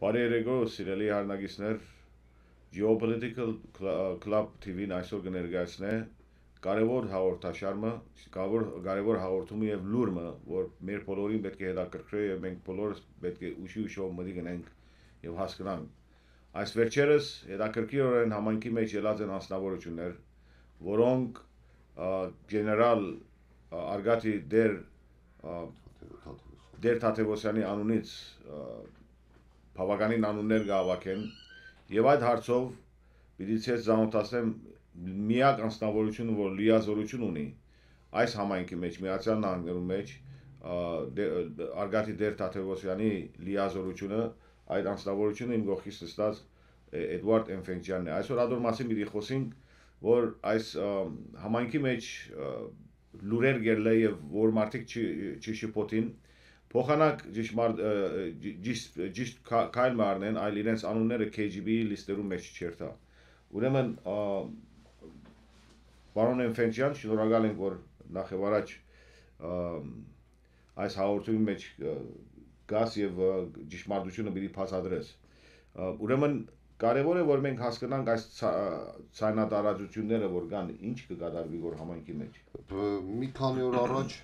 Բարի երեկո, սիրելի հարնագիցներ, Geopolitical Club TV-ն այսօր կներկայացնե կարևոր հաղորդաշարը, կարևոր հաղորդումը եւ լուրը, որ մեր բոլորին պետք է հետաքրքրի եւ մենք բոլորս պետք է ուշով մտի գնանք եւ հասկանանք։ Այս վերջերս հետաքրքիրորեն համայնքի մեջ ելած են անձնավորություններ, որոնք գեներալ Արգատի Դեր Թաթևոսյանի անունից բավականին անուններ գավակեն եւ այդ հարցով պիտի ցես զանոթացնեմ միակ անձնավորությունը, որ լիազորություն ունի այս համայնքի մեջ Միացյալ Նահանգներում մեջ Արգատի Դեր Թաթևոսյանի լիազորությունը այդ անձնավորությունը իմ գողքից նստած Էդվարդ Էնֆենջյանն է։ Այսօր ադոր մասին պիտի խոսենք, որ այս համայնքի մեջ լուրեր գերլե եւ որ մարդիկ չշփոթին Փոխանակ ճիշտ քայլ մարնեն, այլ իրենց անունները KGB լիստերում մեջ չերթա։ Ուրեմն պարոն Էնֆենջյան, շնորհակալ ենք, որ նախ եւ առաջ այս հաղորդումի մեջ գաս եւ ճշմարտությունը պիտի բացատրես։ Ուրեմն կարևոր է, որ մենք հասկանանք այս ցայնատարածությունները, որ կան, ինչ կկատարվի որ համայնքի մեջ։ Մի քանի օր առաջ,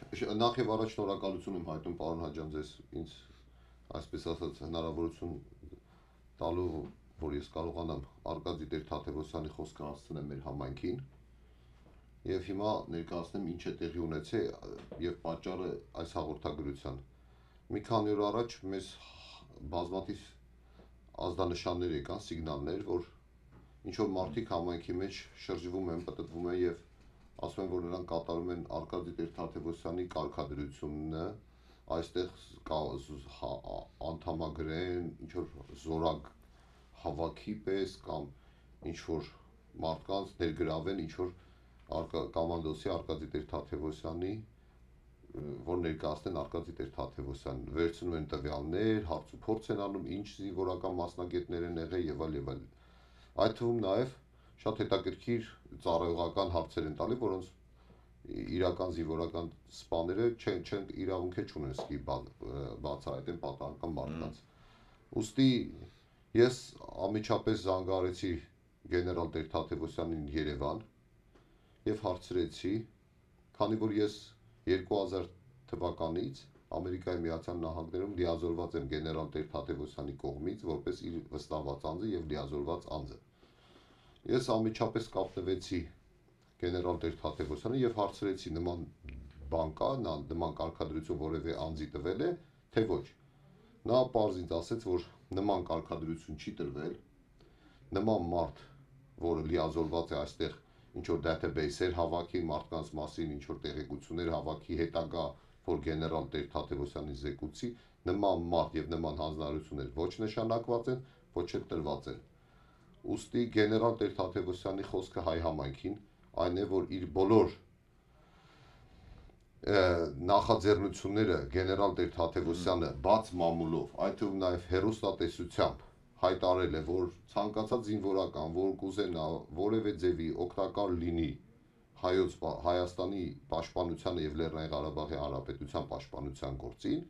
նախ եւ առաջ շնորհակալություն եմ հայտնում պարոն Հաջյան ձեզ ինձ այսպես ասած հնարավորություն տալու, որ ես կարողանամ Արգադի Դեր Թաթևոսյանի խոսքը հասցնեմ մեր համայնքին եւ հիմա ներկայացնեմ ինչ է տեղի ունեցել եւ պատճառը այս հաղորդագրության։ Մի քանի օր առաջ մեզ բազմաթիվ ազդանշաններ եկան, սիգնալներ, որ ինչ որ մարդիկ համայնքի մեջ շրջվում են, պտտվում են եւ ասում են, որ նրանք կատարում են Արգադի Դեր Թաթևոսյանի կարգադրությունը, այստեղ անդամագրեն, ինչ որ զորակ հավաքի պես կամ ինչ որ մարդկանց ներգրավեն, ինչ որ կոմանդոսի Արգադի Դեր Թաթևոսյանի, որ ներկայացնեն Արգադի Դեր Թաթևոսյանին, վերցնում են տվյալներ, հարց ու փորձ են անում, ինչ զինվորական մասնագետներ են եղել եւ այլ եւ այլ։ Այդ թվում նաեւ շատ հետաքրքիր ծառայողական հարցեր են տալի, որոնց իրական զինվորական սպաները չեն իրավունք չունեն սկի բացահայտեն պատահական մարդկանց։ Ուստի ես ամիջապես զանգահարեցի գեներալ Դեր Թաթևոսյանին Երևան եւ հարցրեցի, քանի որ ես 2000 թվականից Ամերիկայի Միացյալ Նահանգներում լիազորված եմ գեներալ Դեր Թաթևոսյանի կողմից որպես իր վստահված անձը եւ լիազորված անձը։ Ես ամիջապես կապնվեցի գեներալ Դեր Թաթևոսյանը եւ հարցրեցի նման բան կա, նման կարգադրություն որևէ անձի տվել է, թե ոչ։ Նա պարզ ինձ ասեց, որ նման կարգադրություն չի տրվել, նման մարդ, որը լիազորված է այստեղ ինչ որ database-եր հավաքի մարդկանց մասին, ինչ որ տեղեկություններ հավաքի հետագա, որ գեներալ Դեր Թաթևոսյանի զեկուցի, նման մարդ եւ նման հանձնարարություններ ոչ նշանակված են, ոչ էլ տրված են։ Ուստի գեներալ Դեր Թաթևոսյանի խոսքը հայ համայնքին այն է, որ իր բոլոր նախաձեռնությունները գեներալ Դեր Թաթևոսյանը բաց մամուլով, այդ թվում նաեւ հերոստատեսությամբ հայտարարել է, որ ցանկացած զինվորական, որ կուզենա որևէ ձևի օգտակար լինի Հայաստանի պաշտպանությանը եւ Լեռնային Ղարաբաղի Հանրապետության պաշտպանության գործին,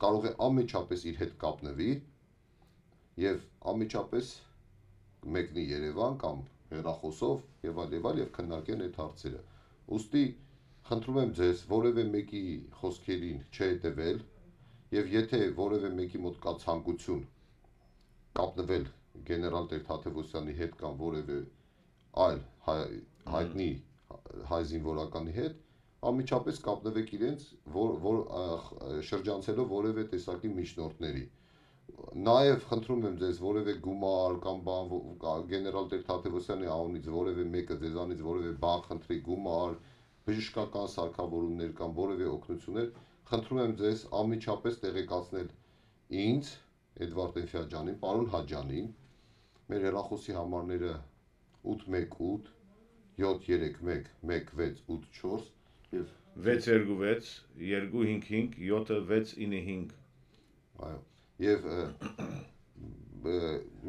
կարող է անմիջապես իր հետ կապնվի եւ անմիջապես մեկնի Երևան կամ հեռախոսով եւ այլ եւ քննարկեն այդ հարցերը։ Ուստի խնդրում եմ ձեզ որևէ մեկի խոսքերին չհետեւել եւ եթե որևէ մեկի մոտ կա ցանկություն կապնվել գեներալ Դեր Թաթևոսյանի հետ կամ որևէ այլ հայտնի հայ զինվորականի հետ, անմիջապես կապնվեք իրենց, որ շրջանցելով որևէ տեսակի միջնորդների։ Նաեւ խնդրում եմ ձեզ որևէ գումար կամ բան գեներալ Դեր Թաթևոսյանի անունից որևէ մեկը ձեզանից որևէ բան խնդրի գումար, բժշկական սարքավորումներ կամ որևէ օգնություններ, խնդրում եմ ձեզ անմիջապես տեղեկացնել ինձ Էդվարդ Էնֆենջյանին, պարոն Հաջյանին, մեր հեռախոսի համարները 818 731 1684 եւ 626 255 7695 այո եւ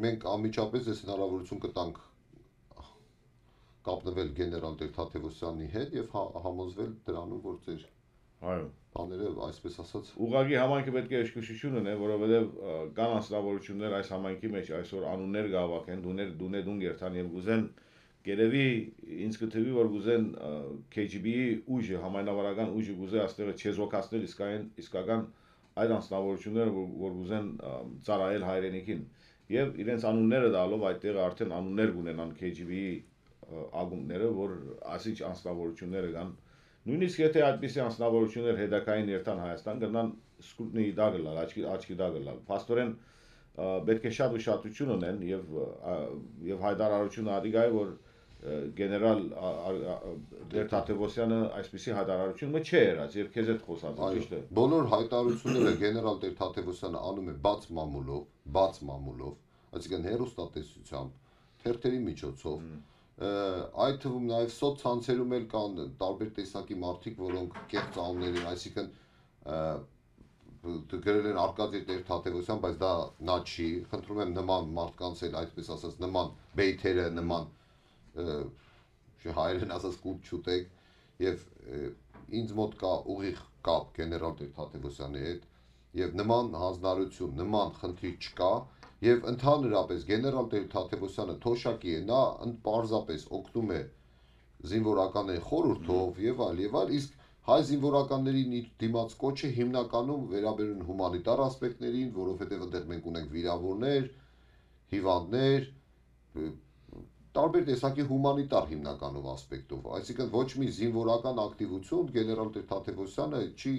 մենք անմիջապես այս հնարավորություն կտանք կապնվել գեներալ Դեր Թաթևոսյանի հետ եւ համոզվել դրանում, որ ձեր Այո։ Բաները այսպես ասած Ուղղակի համայնքը պետք է զգուշություն ունենա, որովհետև կան անձնավորություններ այս համայնքի մեջ այսօր անուններ գավակեն, դուն երթան եւ գուզեն գերեւի ինձ կթվի որ գուզեն KGB-ի ուժը համայնավարական ուժը գուզե աստեղը չեզոքացնել իսկական այդ անձնավորությունները որ գուզեն ծառայել հայրենիքին եւ իրենց անունները դալով այդտեղ արդեն անուններ կունենան KGB-ի ագումները որ ասիչ անձնավորությունները կան Նույնիսկ եթե այդպիսի անձնավորություններ հետակային երթան Հայաստան գնան սկուտնի դա գլալ, աչքի դա գլալ։ Փաստորեն պետք է շատ ուշադրություն ունեն եւ հայտարարությունը ադիգայ որ գեներալ Տեր-Թադևոսյանը այսպիսի հայտարարություն չէ եղած եւ քեզ հետ խոսած ճիշտ է։ Բոլոր հայտարարությունները գեներալ Տեր-Թադևոսյանը անում է բաց մամուլով, այսինքն հերոստատեսությամբ, թերթերի միջոցով այդ թվում նաև սոցցանցերում էլ կան տարբեր տեսակի մարդիկ, որոնք կեղծ անուններ են, այսինքն գրել են Արկադի Տեր-Թադևոսյան, բայց դա նա չի, խնդրում եմ նման մարդկանց էլ այդպես ասած նման բեյթերը, նման հայերեն ասած կուտ չուտեք եւ ինձ մոտ կա ուղիղ կապ գեներալ Տեր-Թադևոսյանի հետ եւ նման հանձնարարություն, նման խնդիր չկա Եվ ընդհանրապես գեներալ Տեր-Թադևոսյանը թոշակի է, նա պարզապես օգնում է զինվորականների խորհրդով եւ այլ, իսկ հայ զինվորականների դիմաց կոչը հիմնականում վերաբերում հումանիտար ասպեկտներին, որովհետեւ այնտեղ մենք ունենք վիրավորներ, հիվանդներ, տարբեր տեսակի հումանիտար հիմնականում ասպեկտով, այսինքն ոչ մի զինվորական ակտիվություն գեներալ Տեր-Թադևոսյանը չի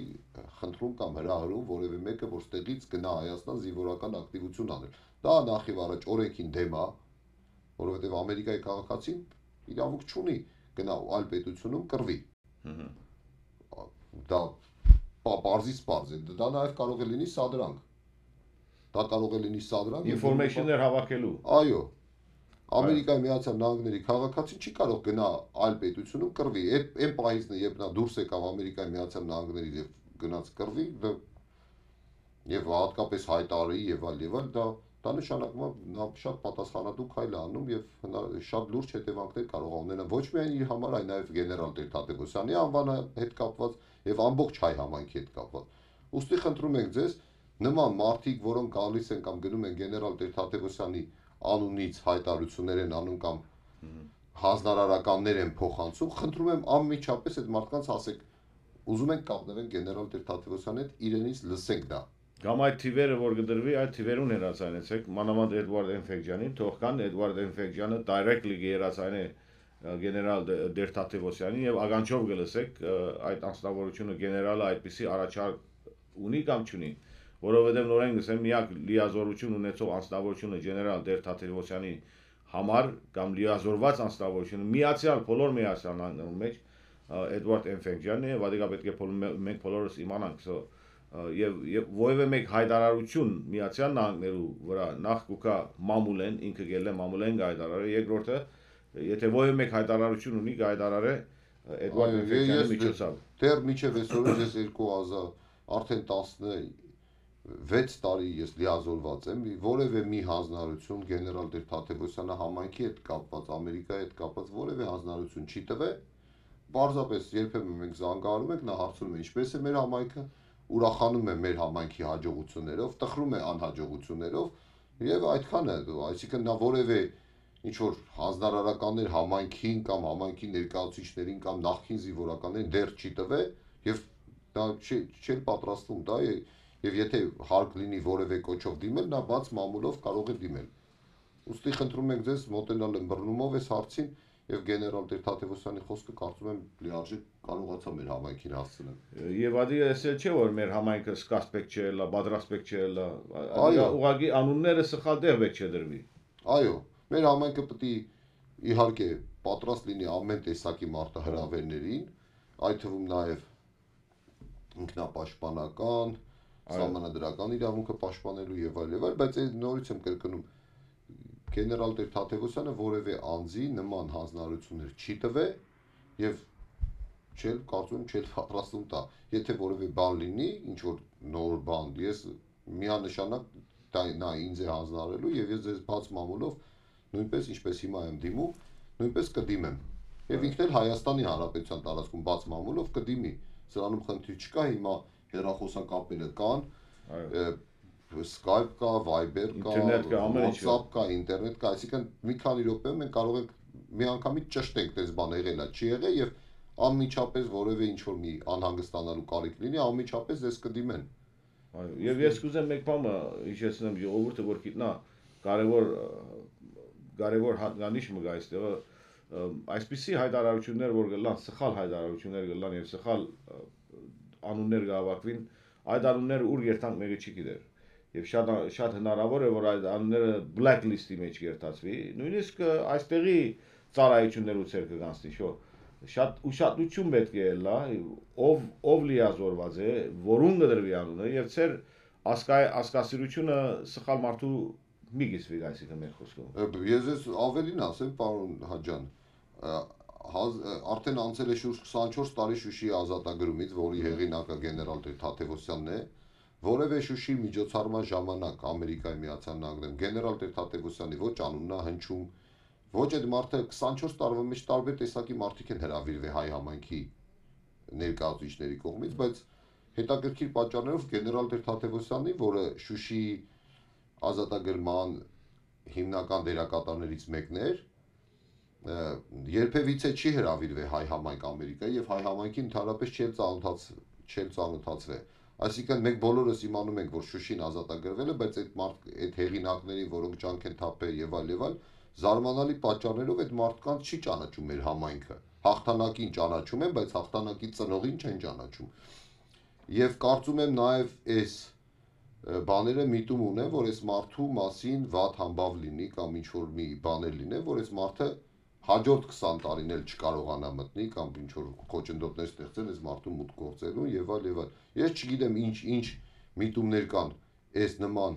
խնդրում կամ հրահրում որևէ մեկը, որ ստեղից գնա Հայաստան զինվորական ակտիվություն անել։ Դա նախ եւ առաջ օրենքին դեմ է, որովհետեւ Ամերիկայի քաղաքացին իրավունք չունի գնա այլ պետությունում կռվի։ Դա պարզից պարզ է, դա նաեւ կարող է լինի սադրանք։ Դա կարող է լինի սադրանք ինֆորմեյշններ հավաքելու։ Այո։ Ամերիկայի Միացյալ Նահանգների քաղաքացին չի կարող գնա այլ պետությունում կռվի։ Այն պահից երբ նա դուրս եկավ Ամերիկայի Միացյալ Նահանգներից եւ գնաց կռվի, եւ հատկապես հայտարարի եւ այլ, դա նշանակում է նա շատ պատասխանատու քայլ է անում եւ շատ լուրջ հետևանքներ կարող է ունենալ ոչ միայն իր համար, այլ նաեւ գեներալ Տեր-Թադևոսյանի անվանը հետ կապված եւ ամբողջ հայ համայնքի հետ կապված։ Ոստի խնդրում ենք ձեզ նման մարդիկ, որոնք գալիս են կամ գնում են գեներալ Տեր-Թադևոսյանի անունից հայտարարություններ են անում կամ հանձնարարականներ են փոխանցում, խնդրում եմ անմիջապես այդ մարդկանց ասեք, ուզում ենք կապնվեն գեներալ Տեր-Թադևոսյանի հետ, իրենից լսենք դա։ Կամ այդ թիվերը, որ կդրվի, այդ թիվերուն հերացանեցեք, մանավանդ Էդվարդ Էնֆեկջյանին, թող կան Էդվարդ Էնֆեկջյանը directly կերացանե գեներալ Տեր-Թադևոսյանին եւ ագանչով կլսեք այդ անձնավորությունը գեներալը այդպիսի առաջարկ ունի կամ չունի, որովհետեւ նորեն գսեմ միակ լիազորություն ունեցող անձնավորությունը գեներալ Տեր-Թադևոսյանի համար կամ լիազորված անձնավորությունը բոլոր միացյալ նահանգներում մեջ Էդվարդ Էնֆեկջյանն է, վադիկա պետք է մենք բոլորս իմանանք, եւ որևէ մեկ հայտարարություն միացյալ նահանգներու վրա նախ կուկա մամուլեն ինքը գելե մամուլեն հայտարարը երկրորդը եթե որևէ մեկ հայտարարություն ունի հայտարարը Էդվարդ Էնֆեկջյանի միջոցով դեռ միջև այսօր ես 2000 արդեն 16 տարի ես լիազորված եմ որևէ մի հանձնարարություն գեներալ Տեր-Թադևոսյանը համայնքի հետ կապված Ամերիկայի հետ կապված որևէ հանձնարարություն չի տվել պարզապես երբեմն մենք զանգահարում ենք նա հարցնում է ինչպես է մեր համայնքը ուրախանում է մեր համայնքի հաջողություններով, տխրում է անհաջողություններով եւ այդքան է, այսինքն նա որևէ ինչ որ հանձնարարականներ համայնքին կամ համայնքի ներկայացուցիչներին կամ նախկին զինվորականներին դեռ չի տվել եւ դա չի պատրաստվում դա եւ եթե հարկ լինի որևէ կոչով դիմել, նա բաց մամուլով կարող է դիմել։ Ուստի խնդրում ենք ձեզ մոտենալ ըմբռնումով այս հարցին եւ գեներալ Տեր-Թադևոսյանի խոսքը կարծում եմ լիարժեք կարողացա մեր համայնքին հասցնել։ Եվ ադի էսել չէ որ մեր համայնքը սկասպեք չէ, լա բադրասպեք չէ, լա ուղղակի անունները սխալ դեղ բեք չդրվի։ Այո, մեր համայնքը պետք է իհարկե պատրաստ լինի ամեն տեսակի մարտահրավերներին, այդ թվում նաեւ ինքնապաշտպանական, սահմանադրական իրավունքը պաշտպանելու եւ այլ, բայց այդ նորից եմ կրկնում գեներալ Տեր-Թադևոսյանը որևէ անձի նման հանձնարարություններ չի տվել եւ կարծում եմ չէ պատրաստում տա։ Եթե որևէ բան լինի, ինչ որ նոր բան, ես միանշանակ նա ինձ է հանձնարարելու եւ ես ձեզ բաց մամուլով նույնպես ինչպես հիմա եմ դիմում, նույնպես կդիմեմ։ Եվ ինքն էլ Հայաստանի Հանրապետության տարածքում բաց մամուլով կդիմի։ սրանում խնդիր չկա, հիմա հեռախոսակապերը կան, Այո։ Skype կա, Viber կա, Ինտերնետ կա, ամեն ինչ WhatsApp կա, ինտերնետ կա, այսինքն մի քանի րոպեում մենք կարող ենք միանգամից ճշտենք, դες բան եղել է, չի եղել եւ անմիջապես որևէ ինչ որ մի անհանգստանալու կարիք լինի, անմիջապես դες կդիմեն։ Այո, եւ ես կուզեմ մեկ բանը հիշեցնեմ ժողովուրդը, որ գիտնա կարևոր հատկանիշ մը գա այստեղը այսպիսի հայտարարություններ, որ գլան սխալ հայտարարություններ գլան եւ սխալ անուններ գավակվին, այդ անունները ուր երթանք մեկը չի գիտեր։ Եվ շատ հնարավոր է, որ այդ անունները blacklist-ի մեջ երթացվի, նույնիսկ այստեղի ծառայություններու ցեր կգանցնի, շո։ Շատ ուշադրություն պետք է լա, ով լիազորված է, որուն կդրվի անունը եւ ցեր ասկասիրությունը սխալ մարդու մի գիսվի այսինքն մեր խոսքով։ Ես ավելին ասեմ, պարոն Հաջյան, արդեն անցել է շուրջ 24 տարի Շուշիի ազատագրումից, որի հեղինակը գեներալ Թադևոսյանն է, որևէ Շուշիի միջոցառման ժամանակ Ամերիկայի Միացյալ Նահանգներում գեներալ Թադևոսյանի ոչ անուննա հնչում, ոչ այդ մարդը 24 տարվա մեջ տարբեր տեսակի մարդիկ են հրավիրվել հայ համայնքի ներկայացուցիչների կողմից, բայց հետաքրքիր պատճառներով գեներալ Թադևոսյանի, որը Շուշիի ազատագրման հիմնական դերակատարներից մեկն էր, երբևիցե չի հրավիրվել հայ համայնք Ամերիկայի եւ հայ համայնքին ընդհանրապես չել ծանոթացվել։ Այսինքն մենք բոլորս իմանում ենք, որ Շուշին ազատագրվել է, բայց այդ հեղինակներին, որոնք ջանք են թափել եւ այլ, զարմանալի պատճառներով այդ մարդկանց չի ճանաչում մեր համայնքը։ Հաղթանակին ճանաչում են, բայց հաղթանակի ծնողին չեն ճանաչում։ Եվ կարծում եմ նաեւ այս բաները միտում ունեն, որ այս մարդու մասին վատ համբավ լինի կամ ինչ որ մի բաներ լինեն, որ այս մարդը հաջորդ 20 տարին էլ չկարողանա մտնի կամ ինչ որ խոչընդոտներ ստեղծել այս մարդու մուտք գործելու եւ այլ։ Ես չգիտեմ ինչ միտումներ կան այս նման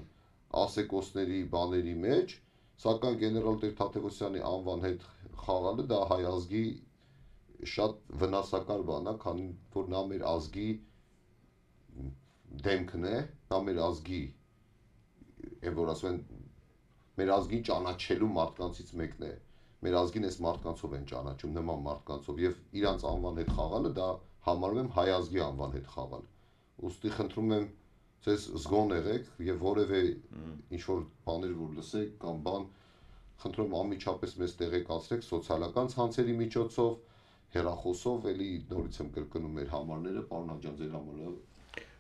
ասեկոսների բաների մեջ, սակայն գեներալ Թադևոսյանի անվան հետ խաղալը դա հայ ազգի շատ վնասակար բան է, քանի որ նա մեր ազգի դեմքն է, նա մեր ազգի որ ասում են մեր ազգին ճանաչելու մարդկանցից մեկն է։ Մեր ազգին այս մարդկանցով են ճանաչում, նման մարդկանցով եւ իրանց անվան հետ խաղալը դա համարում եմ հայ ազգի անվան հետ խաղալ։ Ուստի խնդրում եմ ձեզ զգոն եղեք եւ որևէ ինչ որ բաներ որ լսեք կամ բան, խնդրում եմ անմիջապես մեզ տեղեկացրեք սոցիալական ցանցերի միջոցով, հեռախոսով, էլի նորից եմ կրկնում մեր համարները, պարոն Հաջյան, ձեր համարը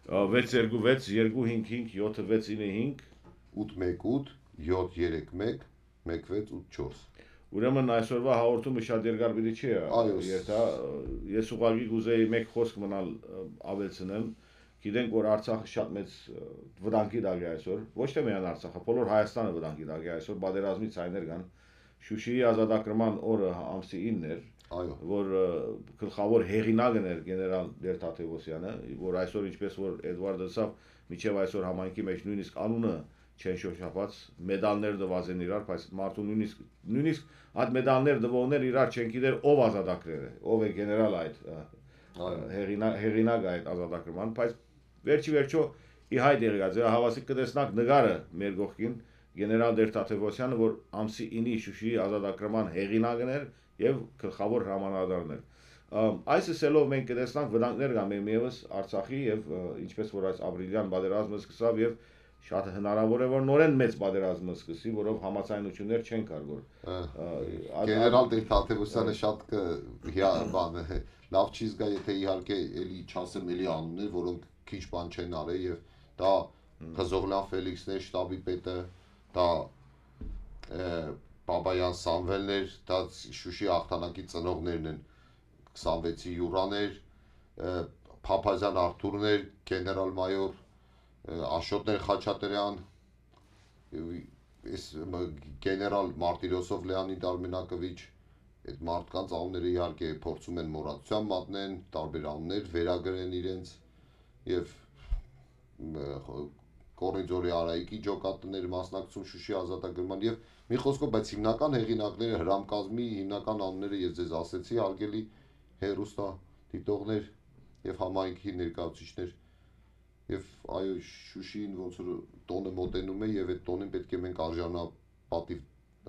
626 255 7695 818 731 1684 Ուրեմն այսօրվա հաղորդումը շատ երկար պիտի չի երթա, ես ուղղակի կուզեի մեկ խոսք մնալ ավելցնել, գիտենք որ Արցախը շատ մեծ վտանգի տակ է այսօր, ոչ թե միայն Արցախը, բոլոր Հայաստանը վտանգի տակ է այսօր, պատերազմի ցայներ կան, Շուշիի ազատագրման օրը ամսի 9-ն էր, որ գլխավոր հեղինակն էր գեներալ Թադևոսյանը, որ այսօր ինչպես որ Էդվարդը ասավ, միջև այսօր համայնքի մեջ նույնիսկ անունը չեն շոշափած, մեդալներ դված են իրար, բայց մարդու նույնիսկ այդ մեդալներ դվողներ իրար չեն գիտեր ով ազատագրել է, ով է գեներալ այդ հեղինակ այդ ազատագրման, բայց վերջի վերջո ի հայտ եղած է, հավասիկ կտեսնակ նկարը մեր գողքին գեներալ Թադևոսյանը, որ ամսի 9-ի Շուշիի ազատագրման հեղինակն էր եւ գլխավոր հրամանատարն էր։ Այս ասելով մենք կտեսնանք վտանգներ կան միևս Արցախի եւ ինչպես որ այս ապրիլյան պատերազմը սկսավ եւ շատ հնարավոր է որ նորեն մեծ պատերազմը սկսի, որով համացայնություններ չեն կար գեներալ Թադևոսյանը շատ բան լավ չի զգա, եթե իհարկե էլի չասեմ էլի անուններ, որոնք քիչ բան չեն արել եւ դա Խզողլյան Ֆելիքսն է, շտաբի պետը, դա Բաբայան Սամվելներ, դա Շուշի հաղթանակի ծնողներն են, 26-ի յուրաներ, Փափազյան Արթուրներ, գեներալ-մայոր Աշոտներ Խաչատրյան, գեներալ Մարտիրոսով Լեոնիդ Արմենակովիչ, այդ մարդկանց անունները իհարկե փորձում են մոռացության մատնեն, տարբեր անուններ վերագրեն իրենց եւ Կորիձորի Արայիկի ջոկատներ մասնակցում Շուշի ազատագրման եւ մի խոսքով, բայց հիմնական հեղինակները հրամկազմի հիմնական անունները ես ձեզ ասեցի, հարգելի հերոստա դիտողներ եւ համայնքի ներկայացուցիչներ եւ այո Շուշիին ոնց որ տոնը մոտենում է եւ այդ տոնին պետք է մենք արժանապատիվ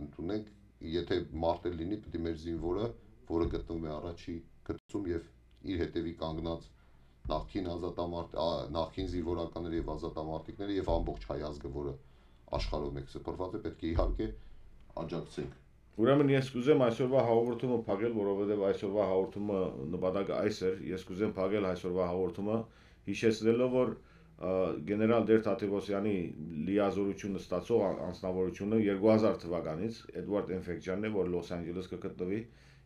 ընդունենք, եթե մարդ լինի, պետք է մեր զինվորը, որը գտնվում է առաջի գծում եւ իր հետևի կանգնած նախկին զինվորականները եւ ազատամարտիկները եւ ամբողջ հայ ազգը, որը աշխարհով մեկ սփռված է, պետք է իհարկե աջակցենք։ Ուրեմն ես կուզեմ այսօրվա հաղորդումը փակել, որովհետեւ այսօրվա հաղորդումը նպատակը այս էր, ես կուզեմ փակել այսօրվա հաղորդումը հիշեցնելով, որ գեներալ Դեր Թադևոսյանի լիազորությունը ստացող անձնավորությունը 2000 թվականից Էդվարդ Էնֆեկջյանն է, որ Լոս Անջելես կգտնվի,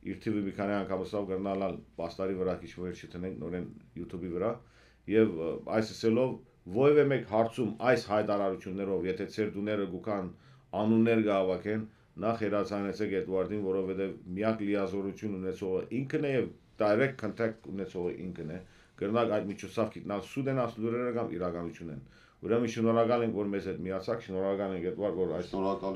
իր թիվը մի քանի անգամ ստավ գնալ պաստարի վրա քիչ վերջ չտնենք նորեն YouTube-ի վրա եւ այս ասելով ովևէ մեկ հարցում այս հայտարարություններով, եթե ծեր դուները գուքան անուններ գավակեն, նախ հերացանեցեք Էդվարդին, որովհետեւ միակ լիազորություն ունեցողը ինքն է եւ direct contact ունեցողը ինքն է, կրնակ այդ միջոցով գիտնալ սուդենաս լուրերը կամ իրականություն են։ Ուրեմն շնորհակալ ենք, որ մեզ հետ միացաք, շնորհակալ ենք Էդվարդ, որ այս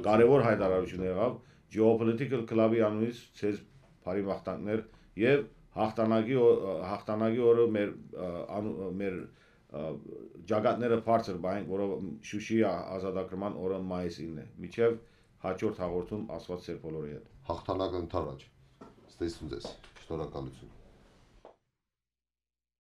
կարևոր հայտարարություն եղավ Geopolitical Club-ի անունից ցեզ բարի մաղթանքներ եւ հաղթանակի օրը մեր ջագատները բարձր բանք, որով Շուշի ազատագրման օրը մայիսին է։ Միջև հաջորդ հաղորդում Աստված ձեր բոլորի հետ։ Հաղթանակը ընդառաջ։ Ստեսուն ձեզ։ Շնորհակալություն։